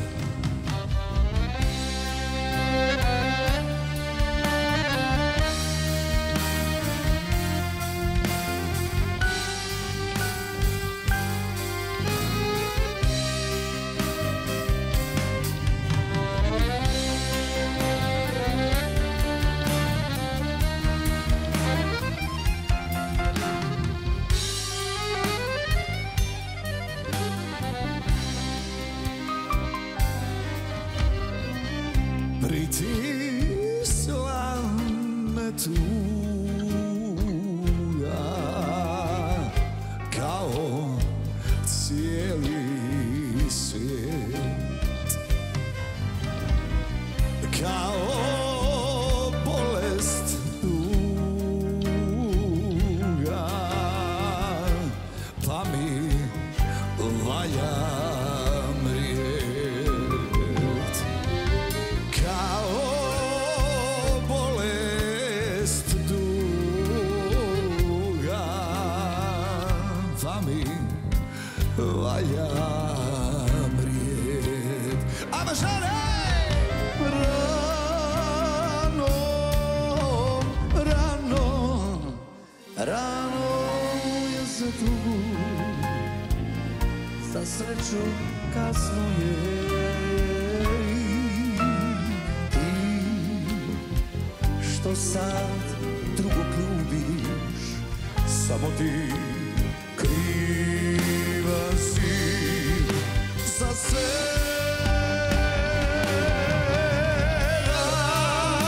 valja prijet. Ама žale! Rano, rano, rano je za tugu, za sreću kasno je. Ti što sad drugog ljubiš, samo ti kriva si za sve.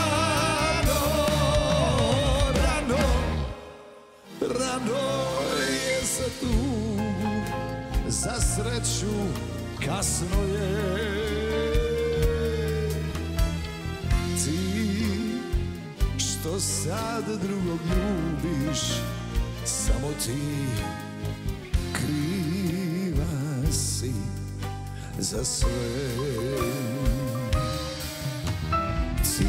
Rano, rano, rano je za tugu, za sreću kasno je. Ti što sad drugog ljubiš, samo ti kriva si za sve. Ti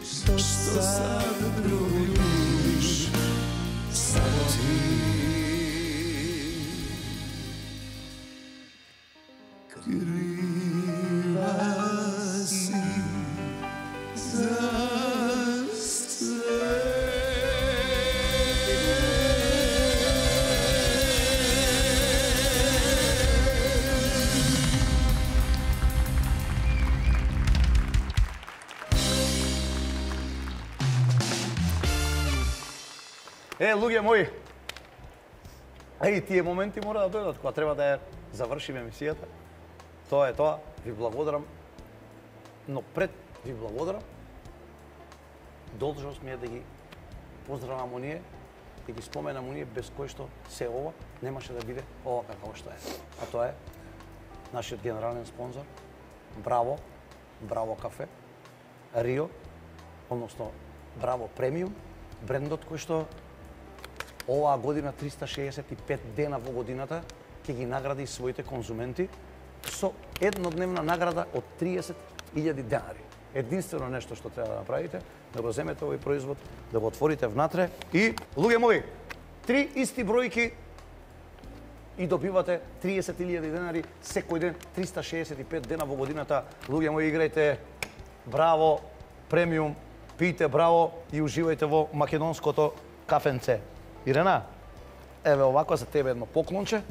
što sad drugog ljubiš, samo ti kriva si za sve. Е, луѓе мои, е, тие моменти мора да дојдат кога треба да ја завршиме емисијата. Тоа е тоа, ви благодарам. Но пред ви благодарам, должност ми е да ги поздравам оние, да ги споменам оние без кои што се ова немаше да биде ова како што е. А тоа е нашиот генерален спонзор, Браво, Браво кафе, Рио, односно Браво премиум, брендот кој што оваа година триста шеесет и пет дена во годината ќе ги награди своите конзументи со еднодневна награда од триесет илјади денари. Единствено нешто што треба да направите, да го земете овој производ, да го отворите внатре и, луѓе мои, три исти бројки и добивате триесет илјади денари секој ден, триста шеесет и пет дена во годината. Луѓе мои, играјте Браво, премиум, пијте Браво и уживајте во македонското кафенце. Ирена, еве овако за тебе едно поклонче,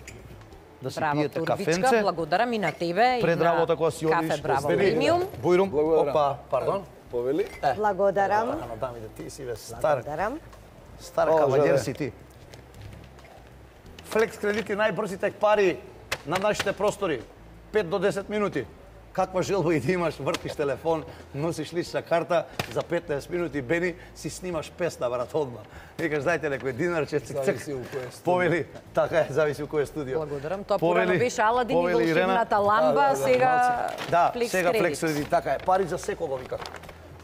да си Браво, пиете Турбичка, кафенце. благодарам и на тебе Пред и на работа кога си одиш, кафе Браво вели, премиум. Бујрум, Благодарам. опа, пардон. Повели? Благодарам. Ано дамите, ти си бе стар, Благодарам. стар О, кавалер жале. си ти. Флекс кредити, најбрзите пари на нашите простори. пет до десет минути. Каква желба и да имаш, вртиш телефон, носиш лична карта, за петнаесет минути бени си снимаш песна, брат, одма. Викаш, дајте некој динарче, цик, цик. Зависи у кој студио. Повели, така е, зависи у кој студио. Благодарам. Тоа Повели- порано беше Аладин и повели Ирена. волшебната ламба, Да, да, да, сега Да, флекс сега кредит. флекс кредит, така е. Пари за секого, вика.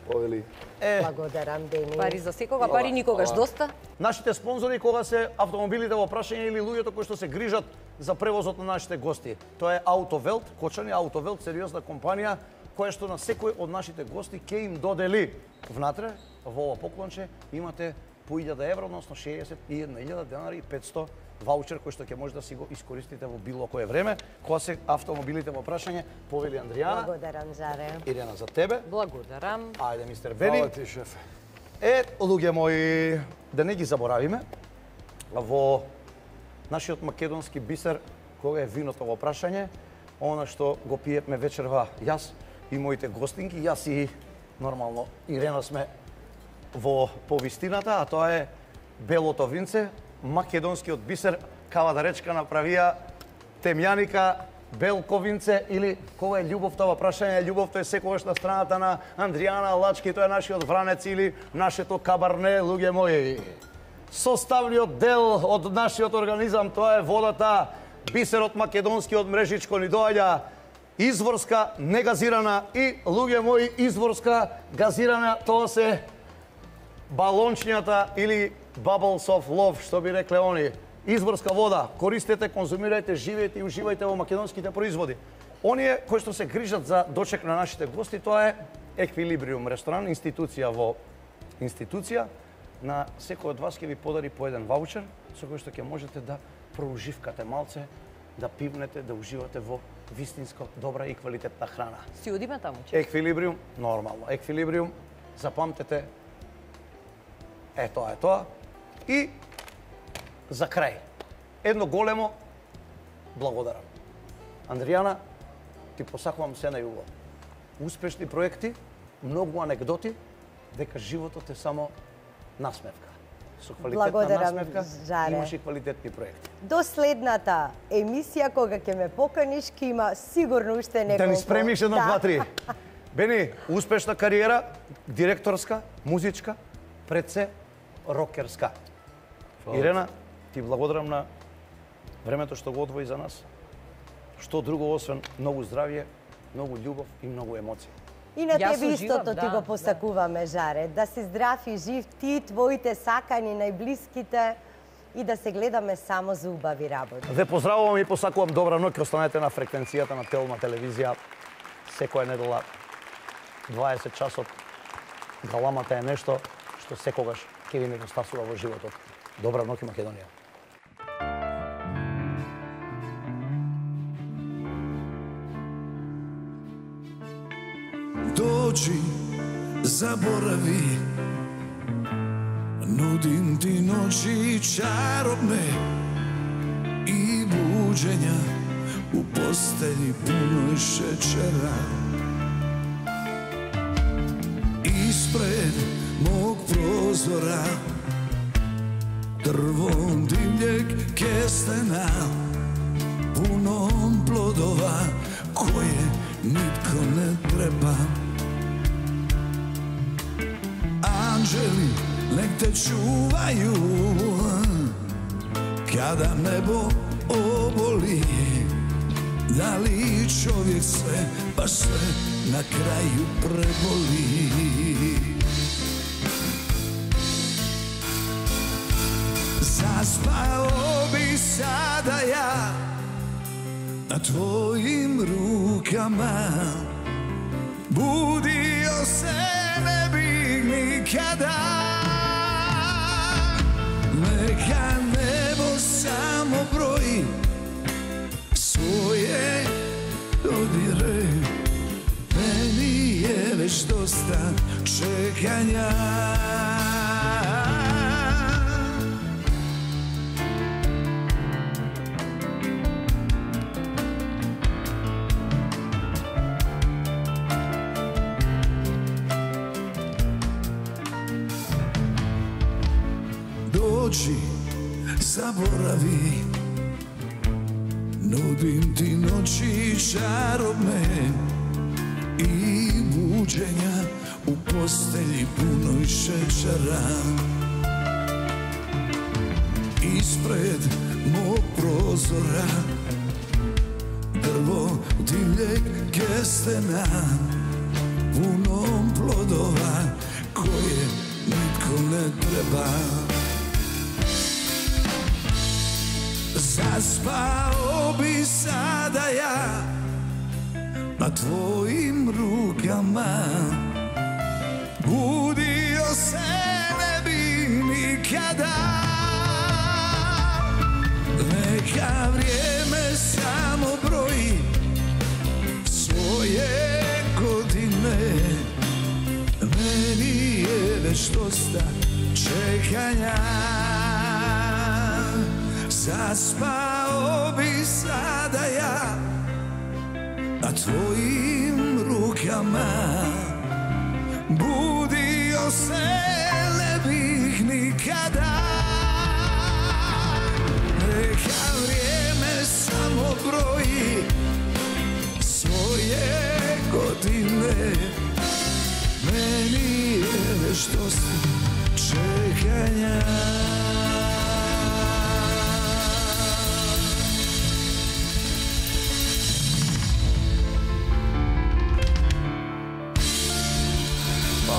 Повели. Е, Благодарам, Дени. Пари за секога, пари никогаш доста. нашите спонзори кога се автомобилите во прашање или луѓето кои што се грижат за превозот на нашите гости. Тоа е Автовелт, Кочани Автовелт, сериозна компанија која што на секој од нашите гости ќе им додели внатре во ова поклонче имате по илјада евра, односно шеесет и една илјада денари и петсто ваучер кој што ќе може да си го искористите во било кое време кога се автомобилите во прашање. Повели Андријана, Благодарам, Заре. Ирена за тебе. Благодарам. Ајде мистер Бени. Фала ти, шефе. Е, луѓе мои, да не ги заборавиме, во нашиот македонски бисер, кога е виното во прашање, она што го пиевме вечерва јас и моите гостинки, јас и нормално Ирена сме во повистината, а тоа е белото винце, македонскиот бисер, кава да речка направија темјаника, белко винце или кога е љубовта во прашање, љубовта е секогаш на страната на Андријана Лачки, тоа е нашиот вранец или нашето кабарне, луѓе мои. Составниот дел од нашиот организам, тоа е водата, бисерот македонски од мрежичко ни доаѓа, изворска, негазирана и, луѓе мои, изворска, газирана, тоа се балончињата или bubbles of love, што би рекле они. Изворска вода, користете, конзумирајте, живеете и уживајте во македонските производи. Оние кои што се грижат за дочек на нашите гости, тоа е Еквилибриум ресторан, институција во институција. на секој од вас ќе ви подари по еден ваучер со кој што ќе можете да проуживкате малце, да пивнете, да уживате во вистинско добра и квалитетна храна. Си одиме таму, че? Еквилибриум, нормално. Еквилибриум, запамтете, е тоа, е тоа. И за крај, едно големо благодарам. Андријана, ти посакувам се најубаво. Успешни проекти, многу анегдоти, дека животот е само насмевка. Со квалитетна Благодарам, насмевка Жаре. имаш и квалитетни проекти. До следната емисија, кога ќе ме поканиш, ќе има сигурно уште неколку. Да ни спремиш едно, Да. два, три. Бени, успешна кариера, директорска, музичка, пред се рокерска. Ирена, ти благодарам на времето што го одвои за нас. Што друго освен многу здравје, многу љубов и многу емоции. И на Јас тебе уживам, истото ти да, го посакуваме, Жаре. Да си здрав и жив ти, твоите сакани, најблиските и да се гледаме само за убави работи. Ве поздравувам и посакувам добра ноќ. Останете на фреквенцијата на Телма телевизија. Секоја недела дваесет часот. Галамата е нешто што секогаш ќе ви недостасува во животот. Добра ноќ, Македонија. Доđi, zaboravi, nudim ti noći čarobne i buđenja u postelji punoj šećera. Ispred mog prozora drvom divljeg kestena, punom plodova koje nitko ne treba. Anđeli nek te čuvaju kada nebo oboli. Da li čovjek sve, baš sve na kraju preboli. Zaspao bi sada ja na tvojim rukama, budio se ne bih nikada. Neka nebo samo broji svoje dodire, meni je već dosta čekanja. Dođi, zaboravi, nudim ti noći čarobne i buđenja u postelji punoj šećera. Ispred mog prozora drvo divljeg kestena, punom plodova koje nitko ne treba. Zaspao bi sada ja na tvojim rukama, budio se ne bi nikada. Neka vrijeme samo broji svoje godine, meni je već dosta čekanja. Zaspao bi sada ja na tvojim rukama, budio se ne bih nikada. Neka vrijeme samo broji svoje godine, meni je već dosta čekanja.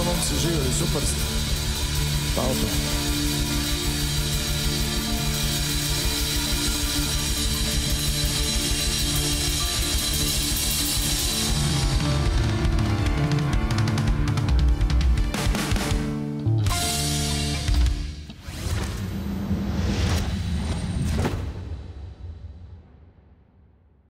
Momci živjeli, super ste. Hvala.